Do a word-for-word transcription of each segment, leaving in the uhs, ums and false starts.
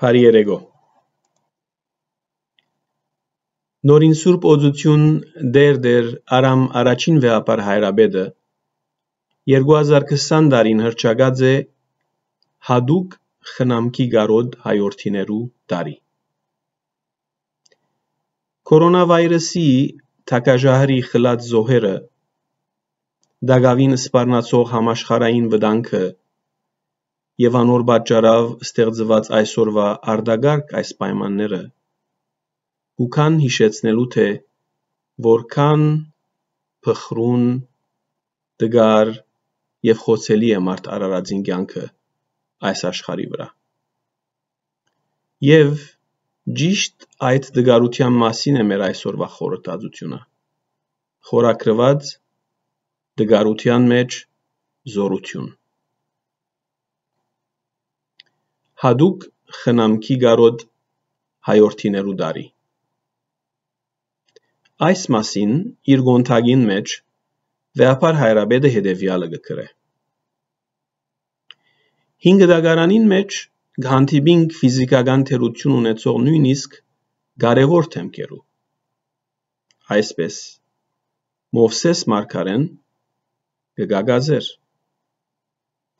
Բարի երեկո։ Նորին Սուրբ Օծութիւն Տէր Տէր Արամ Առաջին Վեհափառ Հայրապետը երկու հազար քսան տարին հռչակած է յատուկ խնամքի կարօտ հայորդիներու տարի։ Կորոնավիրուսի թագաժահրի խլած զոհերը, տակաւին սպառնացող համաշխարհային վտանգը եւ անոր պատճառաւ ստեղծուած այսօրուայ արտակարգ այս պայմանները կու գան յիշեցնելու, թէ որքան փխրուն, տկար եւ խոցելի է մարդ արարածին կեանքը այս աշխարհի վրայ։ Եւ ճիշդ այդ տկարութեան մասին է մեր այսօրուայ խորհրդածութիւնը, խորագրուած «Տկարութեան մէջ զօրութիւն»։ Յատուկ խնամքի կարօտ հայորդիներու տարի։ Այս մասին իր կոնթակին մէջ Վեհափառ Հայրապետը հետեւեալը կը գրէ. «Հինգ դագարանին մէջ կը հանդիպինք ֆիզիքական թերութիւն ունեցող նոյնիսկ կարեւոր դէմքերու։ Այսպէս, Մովսէս մարգարէն կը կակած էր,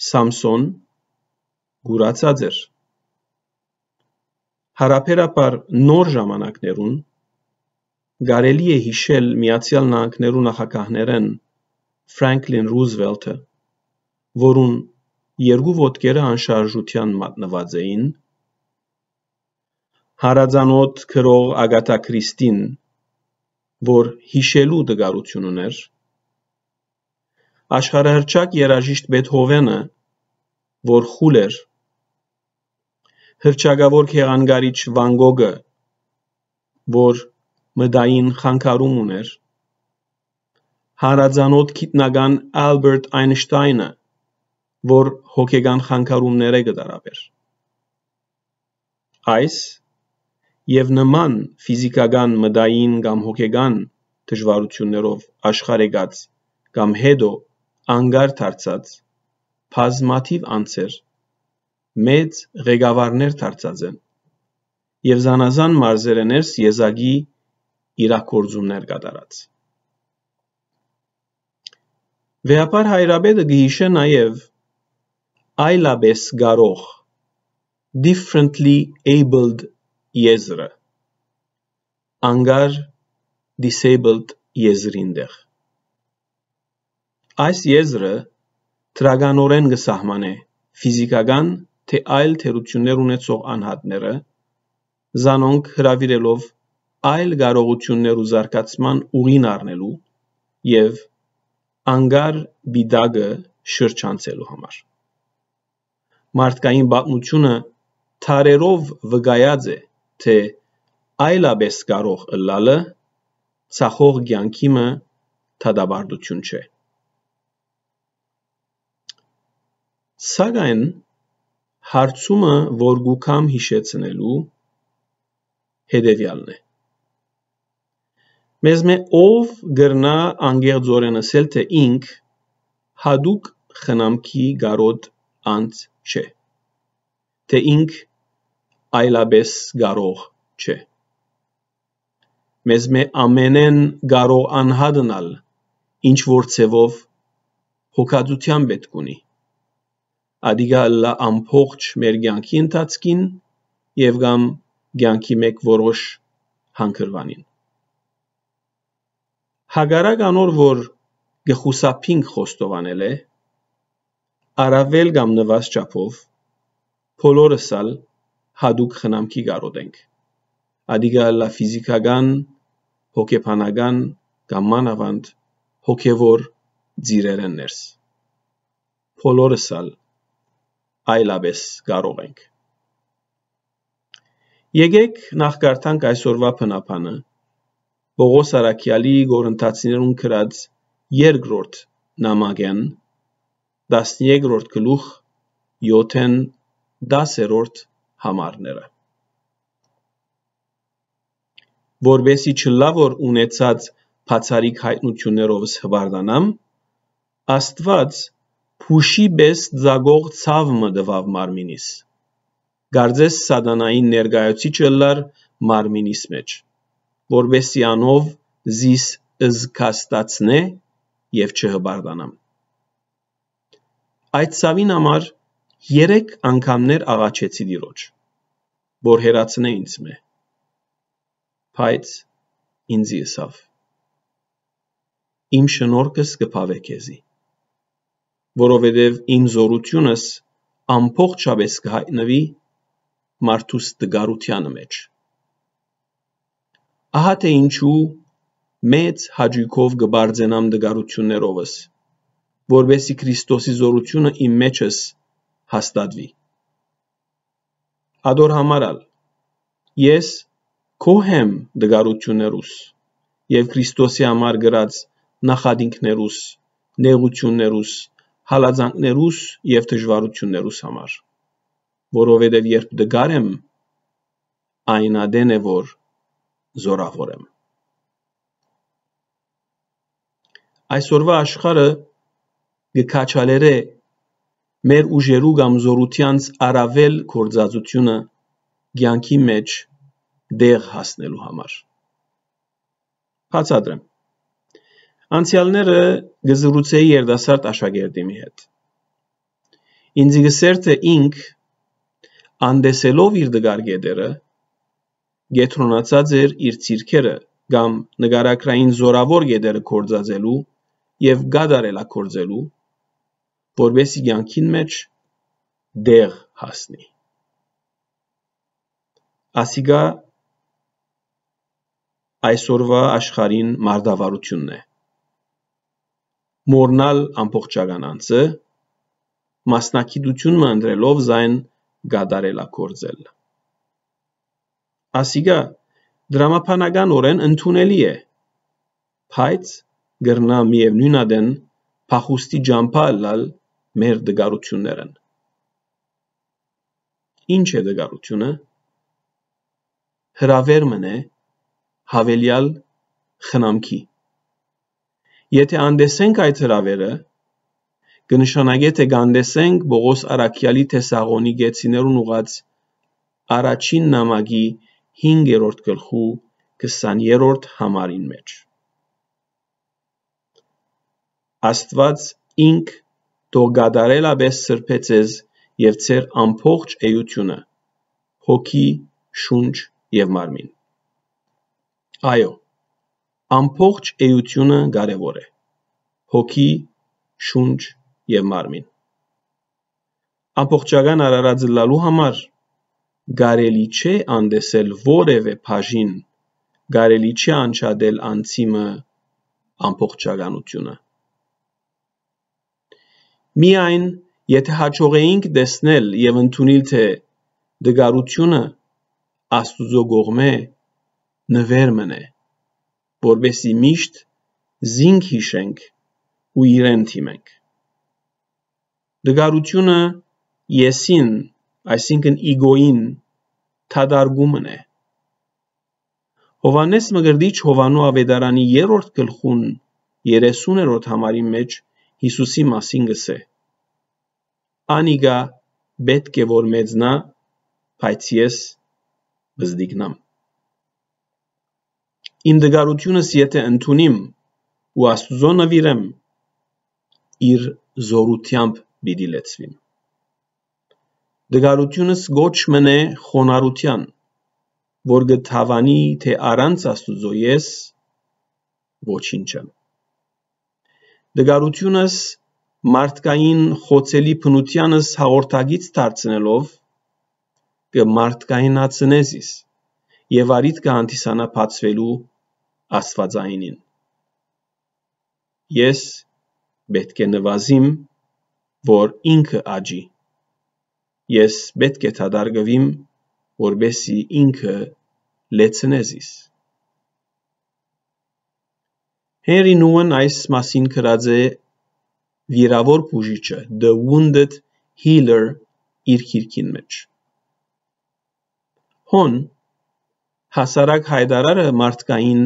Սամսոն կուրացած էր։ Յարաբերաբար նոր ժամանակներուն կարելի է յիշել Միացեալ Նահանգներու նախագահներէն Ֆրանկլին Ռուզվելթը, որուն երկու ոտքերը անշարժութեան մատնուած էին, յարածանօթ գրող Ագաթա Քրիստին, որ յիշելու տկարութիւն ունէր, աշխարհահռչակ երաժիշտ Բեթհովէնը, որ խուլ էր, հռչակաւոր գեղանկարիչ Վան Գոգը, որ մտային խանգարում ունէր, յարածանօթ գիտնական Ալբերտ Այնշտայնը, որ հոգեկան խանգարումներէ կը տառապէր։ Այս եւ նման ֆիզիքական, մտային կամ հոգեկան դժուարութիւններով աշխարհ եկած կամ հետո անկար դարձած բազմաթիւ անձեր մեծ ղեկավարներ դարձած են եւ զանազան մարզերէ ներս եզակի իրագործումներ կատարած։ Վեհափառ Հայրապետը կը յիշէ նաեւ այլապէս կարող, differently abled, եզրը, անկար, disabled, եզրին տեղ։ Այս եզրը դրականօրէն կը սահմանէ ֆիզիքական թէ այլ թերութիւններ ունեցող անհատները, զանոնք հրաւիրելով այլ կարողութիւններու զարգացման ուղին առնելու եւ անկար պիտակը շրջանցելու համար։ Մարդկային պատմութիւնը դարերով վկայած է, թէ այլապէս կարող ըլլալը ծախող կեանքի մը դատապարտութիւն չէ։ Սակայն հարցումը, որ կու գամ յիշեցնելու, հետեւեալն է. մեզմէ ով կրնայ անկեղծօրէն ըսել, թէ ինք յատուկ խնամքի կարօտ անձ չէ, թէ ինք այլապէս կարող չէ։ Մեզմէ ամենէն կարող անհատն ալ ինչ որ ձեւով հոգածութեան պէտք ունի։ Ատիկա ըլլայ ամբողջ մեր կեանքի ընթացքին եւ կամ կեանքի մէկ որոշ հանգրուանին։ Հակառակ անոր, որ կը խուսափինք խոստովանելէ, առաւել կամ նուազ չափով, բոլորս ալ յատուկ խնամքի կարօտ ենք։ Ատիկա ըլլայ ֆիզիքական, հոգեբանական կամ մանաւանդ հոգեվոր ծիրերէն ներս։ Բոլորս ալ այլապէս կարող ենք։ Եկէք նախ կարդանք այսօրուայ բնաբանը, Պողոս Առաքեալի Կորինթացիներուն գրած երկրորդ նամակէն, տասներկրորդ գլուխ, եօթէն տասերորդ համարները։ Որպեսզի չըլլայ որ ունեցած բացառիկ յայտնութիւններովս հպարտանամ, Աստուած փուշի պէս ծակող ցաւ մը տուաւ մարմինիս, կարծես սատանային ներկայացուցիչ ըլլար մարմինիս մէջ, որպեսզի անով զիս զգաստացնէ եւ չհպարտանամ։ Այդ ցաւին համար երեք անգամներ աղաչեցի Տիրոջ, որ հեռացնէ ինձմէ, բայց ինձի ըսաւ. «Իմ շնորհքս կը բաւէ քեզի, որովհետեւ իմ զօրութիւնս ամբողջապէս կը յայտնուի մարդուս տկարութեանը մէջ»։ Ահա թէ ինչու մեծ հաճոյքով կը պարծենամ տկարութիւններովս, որպեսզի Քրիստոսի զօրութիւնը իմ մէջս հաստատուի։ Ատոր համար ալ ես գոհ եմ տկարութիւններուս եւ Քրիստոսի համար կրած նախատինքներուս, նեղութիւններուս, հալածանքներուս եւ դժուարութիւններուս համար, որովհետեւ երբ տկար եմ, այն ատեն է որ զօրաւոր եմ։ Այսօրուայ աշխարհը կը քաջալերէ մեր ուժերու կամ զօրութեանց առաւել գործածութիւնը կեանքի մէջ տեղ հասնելու համար։ Բացատրեմ։ Անցեալները կը զրուցէի երիտասարդ աշակերտի մի հետ։ Ինձի կ'ըսէր թէ ինք, անտեսելով իր տկար կետերը, կեդրոնացած էր իր ցիրքերը կամ նկարագրային զօրաւոր կետերը գործածելու եւ կատարելագործելու, որպեսզի կեանքին մէջ տեղ հասնի։ Ասիկա այսօրուայ աշխարհին մարտավարութիւնն է։ Մոռնալ ամբողջական անձը, մասնագիտութիւն մը ընտրելով զայն կատարելագործել։ Ասիկա դրամաբանականօրէն ընդունելի է, բայց կրնայ միեւնոյն ատեն փախուստի ճամբայ ըլլալ մեր տկարութիւններէն։ Ի՞նչ է տկարութիւնը։ Հրաւեր մըն է յաւելեալ խնամքի։ Եթէ անտեսենք այդ հրաւերը, կը նշանակէ թէ կ'անտեսենք Պողոս առաքեալի Թեսաղոնիկեցիներուն ուղղած առաջին նամակի հինգերորդ գլխու քսաներորդ համարին մէջ։ Աստուած ինք թող կատարելապէս սրբէ ձեզ եւ ձեր ամբողջ էութիւնը, հոգի, շունչ եւ մարմին։ Այո, ամբողջ էութիւնը կարեւոր է, հոգի, շունչ եւ մարմին։ Ամբողջական արարած ըլլալու համար կարելի չէ անտեսել որեւէ բաժին, կարելի չէ անջատել անձի մը ամբողջականութիւնը։ Միայն եթէ յաջողէինք տեսնել եւ ընդունիլ թէ տկարութիւնը Աստուծոյ կողմէ նուէր մըն է, որպեսզի միշտ զինք յիշենք ու իրեն դիմենք։ Տկարութիւնը եսին, այսինքն իգոյին, դատարկումն է։ Յովհաննէս Մկրտիչ Յովհաննու աւետարանի երրորդ գլխուն երեսուներորդ համարին մէջ Յիսուսի մասին կ'ըսէ. «Անիկա պէտք է որ մեծնայ, բայց ես պզտիկնամ»։ Իմ տկարութիւնս եթէ ընդունիմ ու Աստուծոյ նուիրեմ, իր զօրութեամբ պիտի լեցուիմ։ Տկարութիւնս կոչ մըն է խոնարհութեան, որ կը դաւանի թէ առանց Աստուծոյ ես ոչինչ եմ։ Տկարութիւնս մարդկային խոցելի բնութեանս հաղորդակից դարձնելով, կը մարդկայնացնէ զիս եւ առիթ կը հանդիսանայ բացուելու Աստուածայինին։ Ես պէտք է նուազիմ, որ ինքը աճի։ Ես պէտք է դատարկուիմ, որպեսզի ինքը լեցնէ զիս։ Հենրի Նուան այս մասին գրած է Վիրաւոր բուժիչը, The Wounded Healer, իր գիրքին մէջ։ Հոն հասարակ յայտարարը մարդկային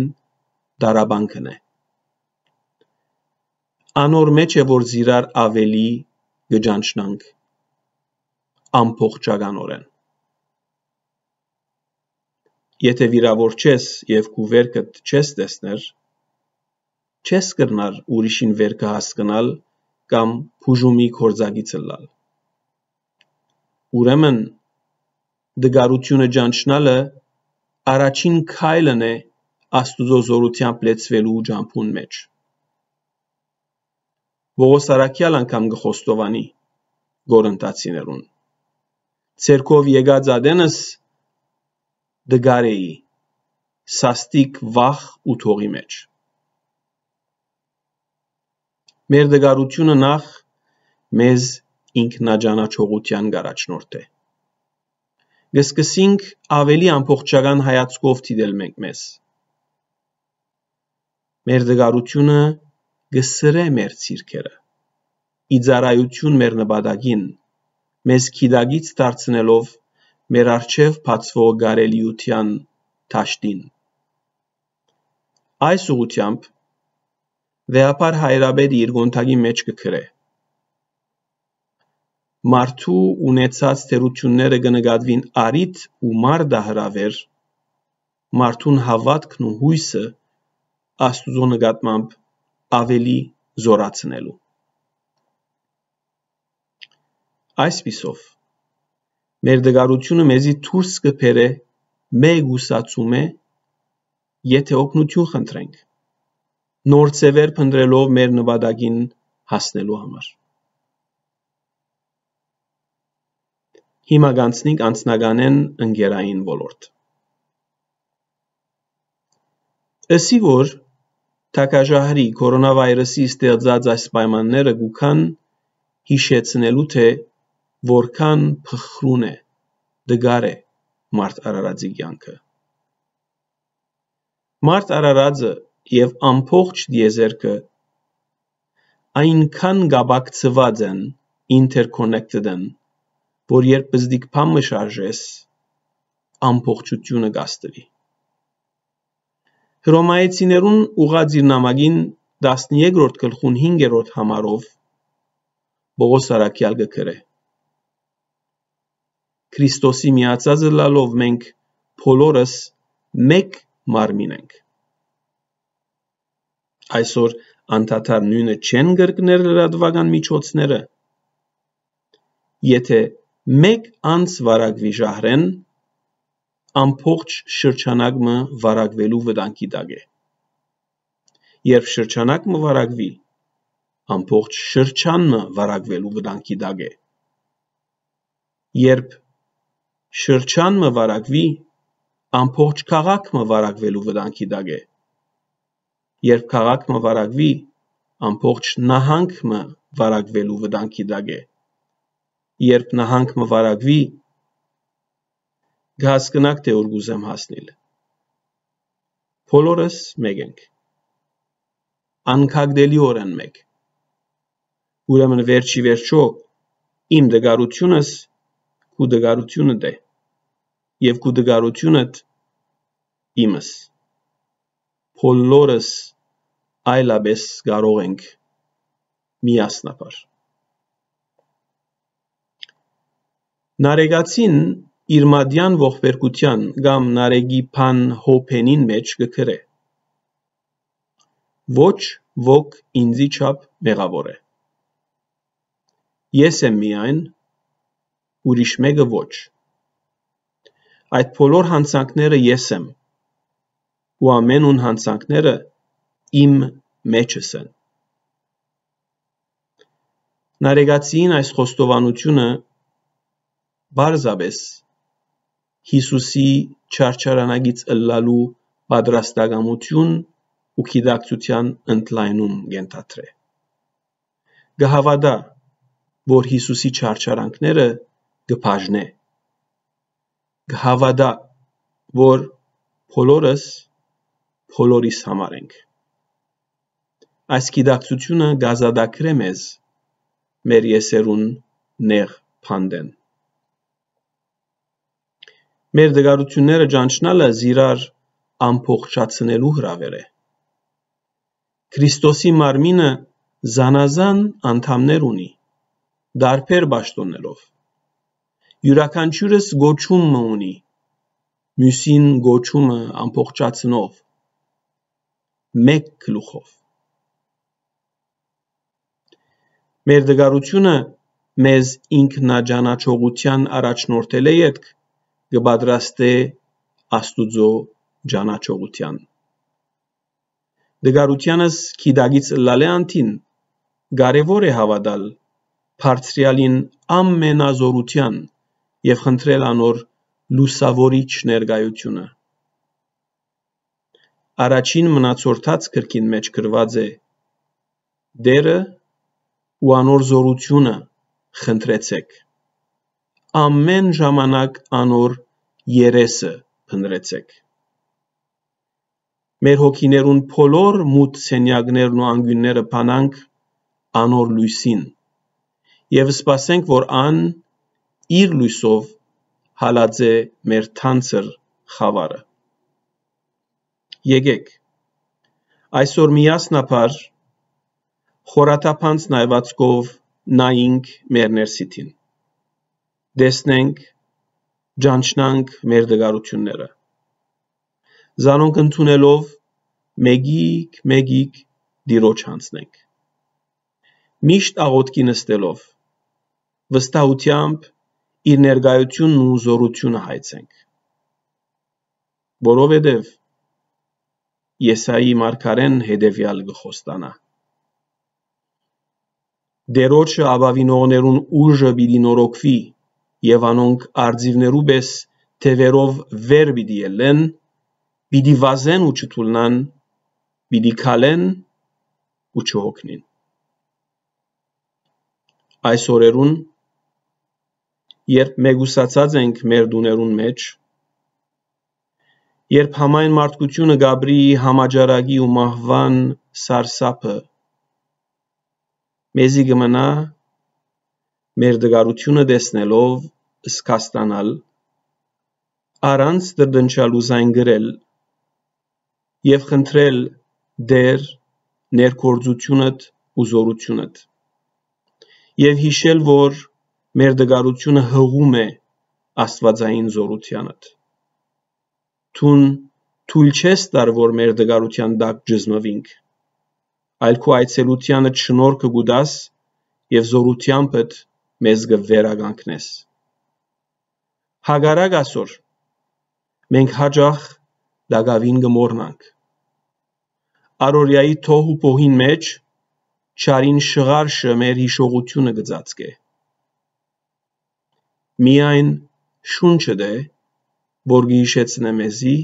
տառապանքն է։ Անոր մէջ է, որ զիրար աւելի կը ճանչնանք ամբողջականօրէն։ Եթէ վիրաւոր չես եւ քու վերքդ չես տեսներ, չես կրնար ուրիշին վերքը հասկնալ կամ բուժումի գործակից ըլլալ։ Ուրեմն, տկարութիւնը ճանչնալը առաջին քայլն է Աստուծոյ զօրութեամբ լեցուելու ճամբուն մէջ։ Պողոս առաքեալ անգամ կը խոստովանի Կորինթացիներուն. «Ձերքով եկած ատենս տկար էի, սաստիկ վախ ու դողի մէջ»։ Մեր տկարութիւնը նախ մեզ ինքնաճանաչողութեան կ'առաջնորդէ։ Կը սկսենք աւելի ամբողջական հայացքով դիտել մենք մեզ։ Մեր տկարութիւնը կը սրէ մեր ցիրքերը, ի ծառայութիւն մեր նպատակին, մեզ գիտակից դարձնելով մեր առջեւ բացուող կարելիութեան դաշտին։ Այս ուղղութեամբ վեհափառ հայրապետը իր կոնդակի մէջ կը գրէ. «Մարդու ունեցած թերութիւնները կը նկատուին առիթ ու մարտահրաւէր, մարդուն հաւատքն ու յոյսը Աստուծոյ նկատմամբ աւելի զօրացնելու»։ Այսպիսով, մեր տկարութիւնը մեզի դուրս կը բերէ մեկուսացումէ, եթէ օգնութիւն խնդրենք, նոր ձեւեր փնտրելով մեր նպատակին հասնելու համար։ Հիմա կանցնենք անձնականէն ընկերային ոլորտ։ Ըսի որ թագաժահրի կորոնավայրուսի ստեղծած այս պայմանները կու գան յիշեցնելու, թէ որքան փխրուն է, տկար է մարդ արարածի կեանքը։ Մարդ արարածը եւ ամբողջ տիեզերքը այնքան կապակցուած են, interconnected են, որ երբ պզտիկ բան մը շարժես, ամբողջութիւնը կ'աստուի։ Հռոմայեցիներուն ուղղած իր նամակին տասներկրորդ գլխուն հինգերորդ համարով Պողոս առաքեալ կը գրէ. «Քրիստոսի միացած ըլլալով մենք բոլորս մէկ մարմին ենք»։ Այսօր անդադար նոյնը չեն կրկներ լրատուական միջոցները։ Եթէ մէկ անձ վարակուի ժահրէն, ամբողջ շրջանակ մը վարակուելու վտանգի տակ է։ Երբ շրջանակ մը վարակուի, ամբողջ շրջան մը վարակուելու վտանգի տակ է։ Երբ շրջան մը վարակուի, ամբողջ քաղաք մը վարակուելու վտանգի տակ է։ Երբ քաղաք մը վարակուի, ամբողջ նահանգ մը վարակուելու վտանգի տակ է։ Երբ նահանգ մը վարակուի, կը հասկնաք, թէ ուր կ'ուզեմ հասնիլ։ Բոլորս մէկ ենք։ Անքակտելիօրէն մէկ։ Ուրեմն վերջի վերջոյ իմ տկարութիւնս քու տկարութիւնդ է, եւ քու տկարութիւնդ իմս։ Բոլորս այլապէս կարող ենք միասնաբար։ Նարեկացին իր մատեան ողբերգութեան կամ Նարեկի բան հոբենին մէջ կը գրէ. «Ոչ ոք ինծի չափ մեղաւոր է։ Ես եմ միայն, ուրիշ մէկը ոչ։ Այդ բոլոր յանցանքները ես եմ, ու ամենուն յանցանքները իմ մէջս են»։ Նարեկացիին այս խոստովանութիւնը պարզապէս Յիսուսի չարչարանակից ըլլալու պատրաստակամութիւն ու գիտակցութեան ընդլայնում կ'ենթադրէ։ Կը հաւատայ, որ Յիսուսի չարչարանքները կը բաժնէ։ Կը հաւատայ, որ բոլորս, բոլորիս համար ենք։ Այս գիտակցութիւնը կ'ազատագրէ մեզ մեր եսերուն նեղ բանտէն։ Մեր տկարութիւնները ճանչնալը զիրար ամբողջացնելու հրաւէր է։ Քրիստոսի մարմինը զանազան անդամներ ունի, տարբեր պաշտօներով։ Իւրաքանչիւրս կոչում մը ունի, միւսին կոչումը ամբողջացնող, մէկ գլուխով։ Մեր տկարութիւնը մեզ ինքնաճանաչողութեան առաջնորդելէ ետք կը պատրաստէ Աստուծոյ ճանաչողութեան։ Տկարութեանս գիտակից ըլլալէ անդին կարեւոր է հաւատալ Բարձրեալին ամենազօրութեան եւ խնդրել անոր լուսաւորիչ ներկայութիւնը։ Առաջին մնացորդաց գրքին մէջ գրուած է. «Տէրը ու անոր զօրութիւնը խնդրեցէք։ Ամէն ժամանակ անոր երեսը փնտռեցէք»։ Մեր հոգիներուն բոլոր մութ սենեակներն ու անկիւնները բանանք անոր լոյսին եւ սպասենք, որ ան իր լոյսով հալած է մեր թանձր խաւարը։ Եկէք այսօր միասնաբար խորաթափանց նայվածքով նայինք մեր ներսիդին, տեսնենք, ճանչնանք մեր տկարութիւնները, զանոնք ընդունելով մէկիկ-մէկիկ Տիրոջ յանձնենք։ Միշտ աղօթքի նստելով, վստահութեամբ իր ներկայութիւնն ու զօրութիւնը հայցենք։ Որովհետեւ Եսայի մարգարէն հետեւեալ կը խոստանայ. «Տիրոջը ապաւինողներուն ուժը պիտի նորոգուի եւ անոնք արծիւներու պէս թեւերով վեր պիտի ելլեն, պիտի վազեն ու չթուլնան, պիտի քալեն ու չհոգնին»։ Այս օրերուն, երբ մեկուսացած ենք մեր տուներուն մէջ, երբ համայն մարդկութիւնը կ'ապրի համաճարակի ու մահուան սարսափը, մեզի կը մնայ մեր տկարութիւնը տեսնելով զգաստանալ, առանց տրտնջալ ու զայն կրել եւ խնդրել. «Տէր, ներգործութիւնդ ու զօրութիւնդ»։ Եւ յիշել, որ մեր տկարութիւնը յղում է աստուածային զօրութեանդ։ Դուն թոյլ չես տար, որ մեր տկարութեան տակ ճզմուինք, այլ քու այցելութեանդ շնորհքը կու տաս եւ զօրութեամբդ մեզ կը վերականգնես։ Հակառակ, ասոր, մենք յաճախ տակաւին կը մոռնանք։ Առօրեայի թոհ ու պոհին մէջ չարին շղարշը մեր յիշողութիւնը կը ծածկէ։ Միայն շունչդ է, որ կը յիշեցնէ մեզի.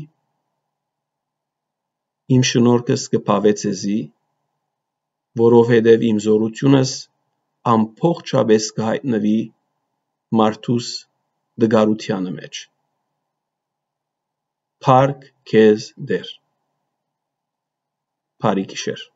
«Իմ շնորհքս կը բաւէ ձեզի, որովհետեւ իմ զօրութիւնս ամբողջապէս կը յայտնուի մարդուս տկարութեանը մէջ»։ Փառք քեզ, Տէր։ Բարի գիշեր։